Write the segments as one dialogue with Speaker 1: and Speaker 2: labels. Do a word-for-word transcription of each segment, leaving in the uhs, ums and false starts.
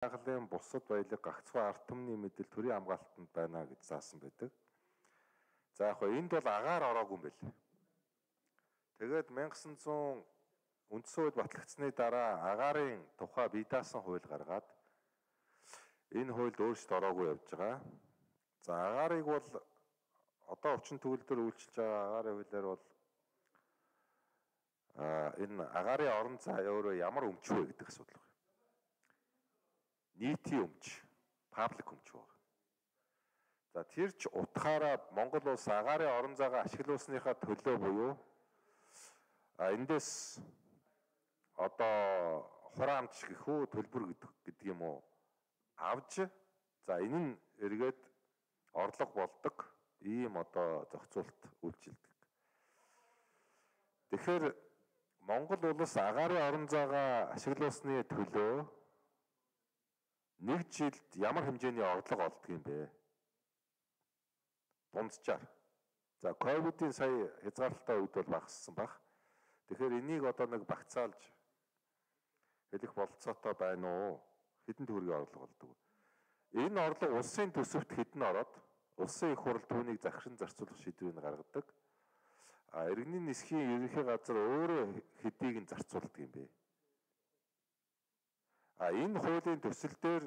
Speaker 1: Байгалийн бусад баялаг гагцхүү ард түмний мэдэл төрийн хамгаалтанд байна гэж заасан байдаг. За яг хөө энд бол агаар ороогүй юм бэл. Тэгээд мянга девятьсот үндсэн үед батлагдсны дараа агаарын тухай бие даасан хууль гаргаад энэ хуульд өөрчлөлт ороогүй явж байгаа. За агаарыг бол одоо орчин төгөлдөр үйлчилж байгаа агаарын хуулиар бол а энэ агаарын орон зай өөрөө ямар өмч вэ гэдэг асуудал байна. Нийтийн өмч, паблик өмч байна. За тэр ч утгаараа Монгол улс агаарын орон зайгаа ашиглуулсныхаа төлөө буюу а эндээс одоо хураамж гэх үү төлбөр гэдэг юм уу авж за энэ нь эргээд орлого болдог ийм одоо зохицуулт үйлчилдэг. Тэгэхээр Монгол улс агаарын орон зайгаа ашиглуулсны төлөө нэг жилд ямар хэмжээний орлого олдог юм бэ? Дунджаар. За ковидын сая хязгаарлалтай үед бол багассан баг. Тэгэхээр энийг одоо нэг багцаалж хэлэх болцоотой байна уу? Хэдэн төгрөгийн орлого болдог. Энэ орлого улсын төсөвт хэдэн ороод улсын их хурл түүнийг захиран зарцуулах шийдвэрийг гаргадаг. А иргэний нисхийн ерөнхий газар өөрөө хэдийг нь зарцуулдаг юм бэ? А энэ хуулийн төсөл дээр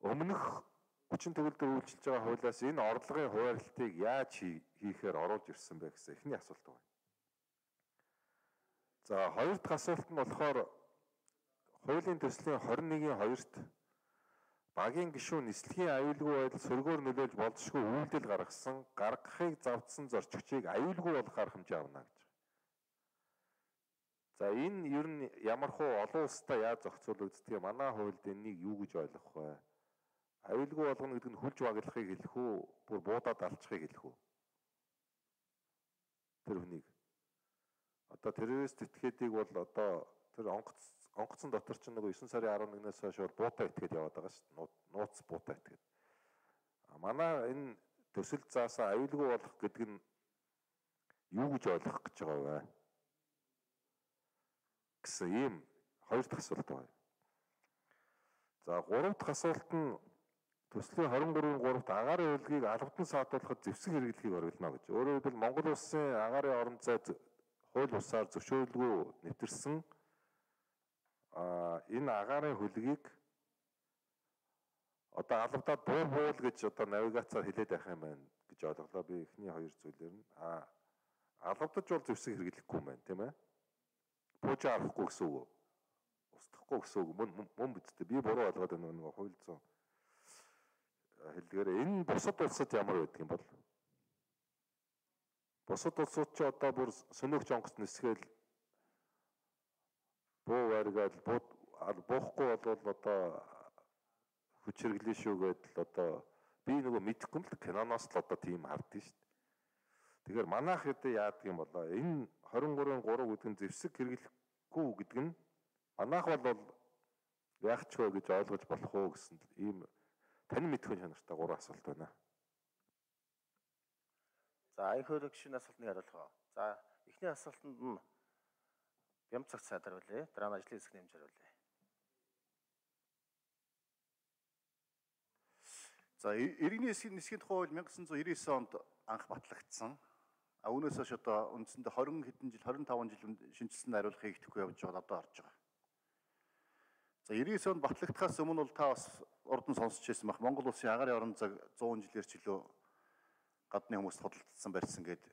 Speaker 1: өмнөх хүчин төгөлдөр үйлчилж байгаа хуулиас энэ орлогын хуваарлтыг яаж хийхээр оруулж ирсэн бэ гэсэн эхний асуулт байна. За хоёр дахь асуулт нь болохоор хуулийн төслийн двадцать нэгний хоёрт багийн гишүүн нислэгийн аюулгүй байдал сөргөөр нөлөөлж болзошгүй үйлдэл гаргасан гаргахыг завдсан зорчигчийг аюулгүй болох арга хэмжээ авна гэж. За энэ ер нь ямархуу олон улстай яаж зохицуулагддгийг манай хуульд энийг юу гэж ойлгох вэ? Аюулгүй болгоно гэдэг нь хүлж баглахыг хэлэх үү? Бүр буудаад алчихыг хэлэх үү? Тэр хүнийг одоо террорист этгээдийг бол одоо тэр онгоц онгоцон дотор ч нэг девять сарын арван нэгнээс хойш бол буута этгээд яваад байгаа шүү дээ. Нууц буута этгээд. А манай энэ төсөл заасан аюулгүй болох гэдэг нь юу гэж ойлгох гэж байгаа вэ? Гэсэн ийм хоёр дахь асуулт байна. За гурав дахь асуулт нь төслийн двадцать ಮೂрын гуравт агаарын хөлгийг албадан саатуулахад зэвсэг хэрэглэхийг оргилно гэж. Өөрөөр хэлбэл Монгол улсын агаарын орон зай хууль бусаар зөвшөөрлгүй нэвтэрсэн а энэ агаарын хөлгийг одоо албадаа буу буул гэж одоо навигацаар хэлээд байх юм байна гэж ойлголоо. Би эхний хоёр зүйлээр нь а албадаж бол зэвсэг хэрэглэхгүй юм байна, тийм ээ. Бууж авахгүй гэсэн үг. Устгахгүй гэсэн үг. Мөн мөн бидтэй. Би буруу ойлгоод байна нэг хууль зүйн хэлдгээр энэ бусад улсад ямар байдаг юм бол? Бусад улсууд ч одоо бүр сөнөөгч онгоц нисгээл буу барьгаад буухгүй бол одоо хүч хэрэглэн шүү гэдэл одоо би нөгөө мэдэхгүй юм л киноноос л одоо тийм харддаг шүү дээ. Тэгэхээр манайх хэд яадаг юм болоо энэ двадцать ಮೂрын гурав гэдэг нь зэвсэг хэрэглэхгүй гэдэг нь манайх бол яах ч вэ гэж ойлгож болох уу гэсэн ийм тань мэдхэн чанартай гурван асуулт байна.
Speaker 2: За аяг хөрөг шинэ асуултыг хариулах. За эхний асуултанд нь Бямцаг цаадар үлээ. Дараа нь ажлын хэсэг нэмж хариулъя.
Speaker 3: За иргэний нисхийн тухай хууль мянга девятьсот девяносто девять онд анх батлагдсан. А үүнээс хойш одоо үндсэндээ двадцать хэдэн жил двадцать пять жил шинжилсэн хариулах хийгдэхгүй явж байгаа одоо орж байгаа. За девяносто девять онд батлагдахаас өмнө бол та бас урдан сонсч байсан бах Монгол улсын агаарын орон зай сто жилээр ч илүү гадны хүмүүст худалдсан барьсан гэд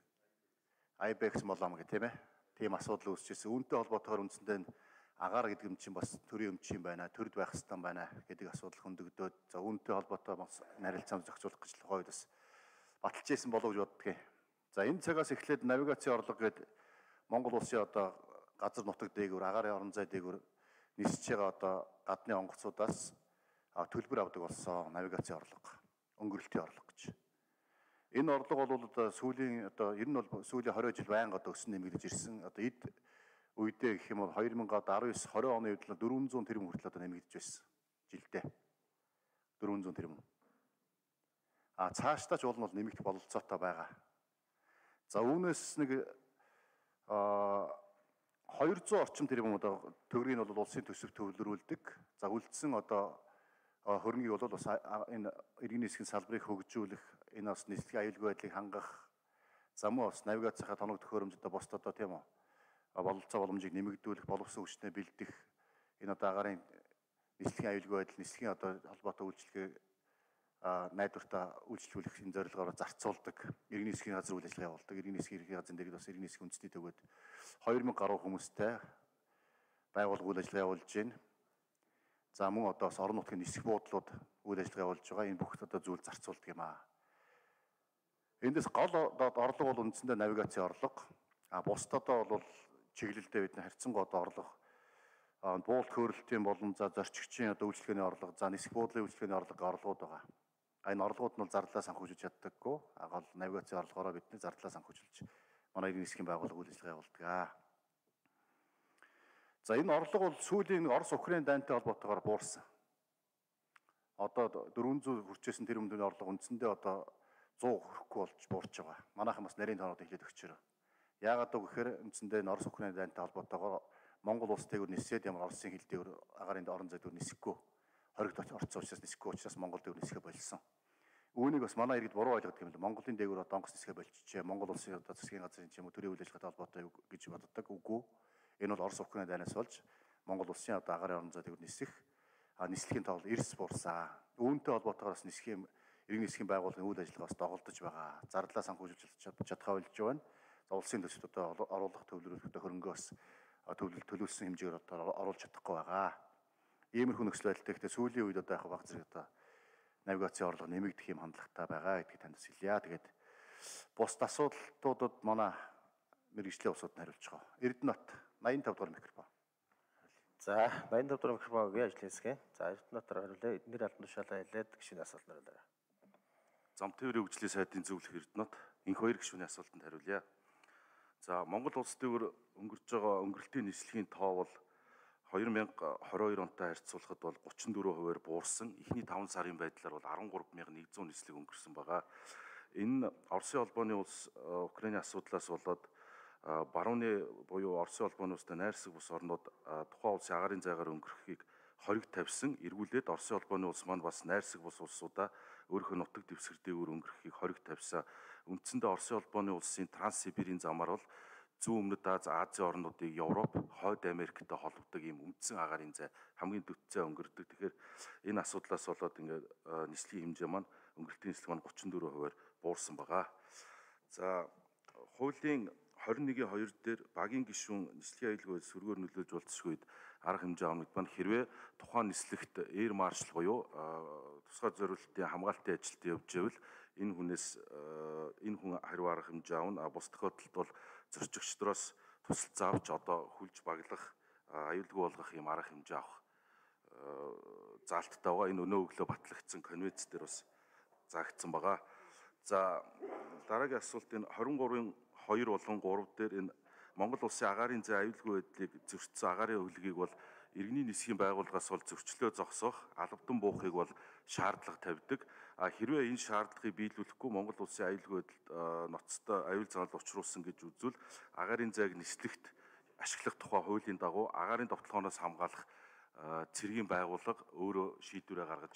Speaker 3: Айбекс молом гэх тийм ээ. Тийм асуудал үүсчихсэн. Үүнтэй холбоотойгоор үндсэндээ агаар гэдэг юм чинь бас төрийн өмч юм байна. Төрд байх хэвээр байна гэдэг асуудал хөндөгдөөд за үүнтэй холбоотой бас нарилцаан зохицуулах гэж тухайд бас баталж ийсэн болов гэж боддгийг. За энэ цагаас эхлээд навигацийн орлого гэдэг Монгол улсын одоо газар нутаг дээгүүр агаарын орон зай дээгүүр нисэж байгаа одоо гадны онгоцудаас төлбөр авдаг болсон навигацийн орлого, өнгөрөлтийн орлого гэж. Энэ орлого бол одоо сүүлийн одоо ер нь бол сүүлийн двадцать жил байнга одоо өсөн нэмэгдэж ирсэн. Одоо эд үедээ гэх юм бол две тысячи десять двадцать оны үед л дөрвөн зуун тэрбум хүртэл одоо нэмэгдэж байсан жилдээ. дөрвөн зуун тэрбум. А цаашдаа ч уул нь нэмэгдэх бололцоотой байгаа. За үүнээс нэг хоёр зуун орчим тэрбум одоо төгрөгийг бол улсын төсөв төвлөрүүлдэг. За үлдсэн одоо хөрөнгийг бол бас энэ иргэний засгийн салбарыг хөгжүүлэх, энэ бас нийслэлийн аюулгүй байдлыг хангах, за мөн бас навигацийнхаа тоног төхөөрөмжөд босд одоо тийм үү бололцоо боломжийг нэмэгдүүлэх, боловсон хүчнээ бэлдэх, энэ одоо агаарын нийслэлийн аюулгүй байдал, нийслэлийн одоо холбоотой үйлчлэгээ найдвартаа үйлчлүүлэх энэ зорилгоор зарцуулдаг, иргэний засгийн газар үйл ажиллагаа явуулдаг, иргэний засгийн ерхий газрын дэргэд бас иргэний засгийн үндэсний төвөд хоёр мянга гаруй хүмүүстэй байгууллага үйл ажиллагаа явуулж байна. За мөн одоо бас орон нутгийн нисэх буудлууд үйл ажиллагаа явуулж байгаа. Энэ бүх одоо зүйл зарцуулдаг юм аа. Эндээс гол орлого бол үндсэндээ навигацийн орлого. А бусд одоо бол чиглэлдээ бидний харьцангуй одоо орлого буулт хөөрөлтийн болон за зорчигчийн одоо үйлчлэгээний орлого, за нисэх буудлын үйлчлэгээний орлого орлогууд байгаа. А энэ орлогууд нь бол зарлаа санхүүжүүлж чаддаггүй. А гол навигацийн орлогоороо бидний зарлаа санхүүжүүлж манай иргэний засгийн байгууллага үйл ажиллагаа явуулдаг. За энэ орлого бол сүүлийн Орос Украин дайнтай холбоотойгоор буурсан. Одоо дөрвөн зуун хүрчээсэн тэр өмнөний орлого үндсэндээ одоо зуун хүрэхгүй болж буурч байгаа. Манайхан бас нарийн тоонууд эхлээд өгчөөрөө. Яагаад гэвэл үндсэндээ Орос Украин дайнтай холбоотойгоор Монгол улс дээгүүр нисээд ямар Оросын хил дээгүүр агаарын орон зай дээгүүр нисэхгүй. Хоригт орцсон учраас нисэхгүй учраас Монгол дээгүүр нисэхэ болсон. Үүнийг бас манай иргэд буруу ойлгодог юм л. Монголын дээгүүр одоо онгоц нисэхэ болчихжээ. Монгол улсын одоо засгийн газрын ч юм уу төрийн үйл ажиллагаатай холбоотой гэж боддог. Үгүй. Энэ бол Орос Украин дайнаас болж Монгол улсын одоо агаарын орон зай дээгүүр нисэх нислэгийн тоол эрс буурсан. Үүнтэй холбоотойгоор бас нисхийн иргэний засгийн байгууллагын үйл ажиллагаас доголдож байгаа. Зарлаа санхүүжүүлж чадхаа болж байна. За улсын төсөвт одоо оруулах төвлөрүүлэх хөрөнгөө бас төвлөл төлөвлөсөн хэмжээгээр одоо оруулж чадахгүй байгаа. Иймэрхүү нөхцөл байдалтай гэхдээ сүүлийн үед одоо яг баг зэрэг одоо навигацийн орлого нэмэгдэх юм хандлагатай байгаа гэдгийг танд хэлье. Тэгээд бус асуудлуудад манай мэргэжлийн усууд нь хариулж байгаа. Эрдэнэт найман тавь дугаар микрофон.
Speaker 2: За найман тавь дугаар микрофонгийн ажлын хэсгээ. За Эрдэнэтээр хариулъя. Эднэр албан тушаалаа хэлээд гишүүний асуулт хариулаарай.
Speaker 4: Зам тээврийн хөгжлийн сайдын зөвлөх Эрдэнэт энэ хоёр гишүүний асуултанд хариулъя. За Монгол улс дээгүүр өнгөрч байгаа өнгөрөлтийн нислэгийн тоо бол хоёр мянга хорин хоёр онтой харьцуулахад бол гучин дөрвөн хувиар буурсан. Эхний таван сарын байдлаар бол арван гурав мянган нэгдүгээр нислэг өнгөрсөн байгаа. Энэ Оросын холбооны улс Украиний асуудлаас болоод барууны буюу Оросын холбооны улстай найрсаг бус орнууд тухайн улсын агаарын зайгаар өнгөрөхийг хориг тавьсан. Эргүүлээд Оросын холбооны улс маань бас найрсаг бус улсуудаа өөрийнхөө нутаг дэвсгэр дээгүүр өнгөрөхийг хориг тавьсан. Үндсэндээ Оросын холбооны улсын Транссибирийн замаар бол зүүн өмнөд Аз, Азийн орнуудыг Европ, Хойд Америктэй холбодог ийм үндсэн агаарын зай хамгийн дөтцөө өнгөрдөг. Тэгэхээр энэ асуудлаас болоод ингээд нислэгийн хэмжээ маань өнгөрөлтийн нислэг маань гучин дөрвөн хувиар буурсан байгаа. За хуулийн хорин нэгний хоёр дээр багийн гишүүн нислэгийн аюулгүй сүргээр нөлөөлж болцсогүй үед арга хэмжээ авах маань хэрвээ тухайн нислэгт эйр маршал буюу тусгай зориулалтын хамгаалтын ажилд явж байвал энэ хүнээс энэ хүн хариу арга хэмжээ авна. Бус тохиолдолд бол зорчигчдроос тусалцаа авч одоо хүлж баглах, аюулгүй болгох юм арга хэмжээ авах заалттай байгаа. Энэ өнөө өглөө батлагдсан конвенц дээр бас заагдсан байгаа. За дараагийн асуулт энэ хорин гурвын хоёр болон гурав дээр энэ Монгол улсын агаарын зай аюулгүй байдлыг зөрчсөн агаарын хөлгийг бол иргэний нисхийн байгууллагаас бол зөрчлөө зогсоох, албадан буухыг бол шаардлага тавьдаг. А хэрвээ энэ шаардлагыг биелүүлэхгүй Монгол улсын аюулгүй байдал ноцтой аюул занал учруулсан гэж үзвэл агаарын зайг нислэгт ашиглах тухай хуулийн дагуу агаарын довтлогоноос хамгаалах цэргийн байгууллага өөрөө шийдвэрээ гаргаж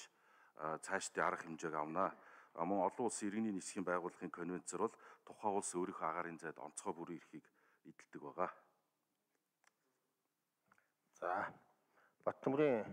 Speaker 4: цаашдын арга хэмжээг авна. Мөн олон улсын иргэний нисхийн байгууллагын конвенцээр бол тухайн улс өөрийнхөө агаарын зайд онцгой бүрэн эрхийг эдэлдэг байгаа.
Speaker 2: За Баттөмрийн